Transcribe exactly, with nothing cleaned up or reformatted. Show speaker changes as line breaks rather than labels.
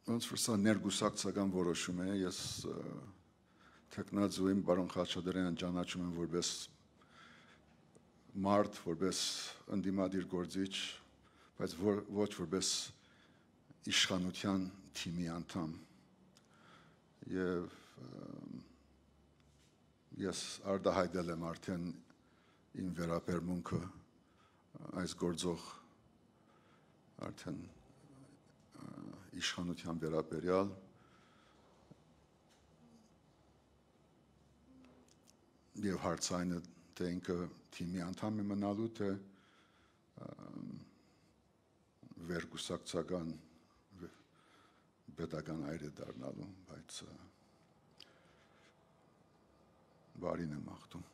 ոնց որ սա ներգուսակցական որոշում է, ես թեկնածուին բարոն Խաչատրյանին ճանաչում եմ որպես մարդ, որպես ընդդիմադիր գործիչ, բայց ոչ որպես իշխանության թիմի անդամ։ Եվ ես արտահայտել եմ արդեն իմ վերաբերմունքը այս գործող արդեն իշխանության վերաբերյալ եւ հարցայինը թե ինքը թիմի անդամ է մնալու, թե վերգուսակցական պետական այր է դառնալու, բայց բարին եմ աղթում։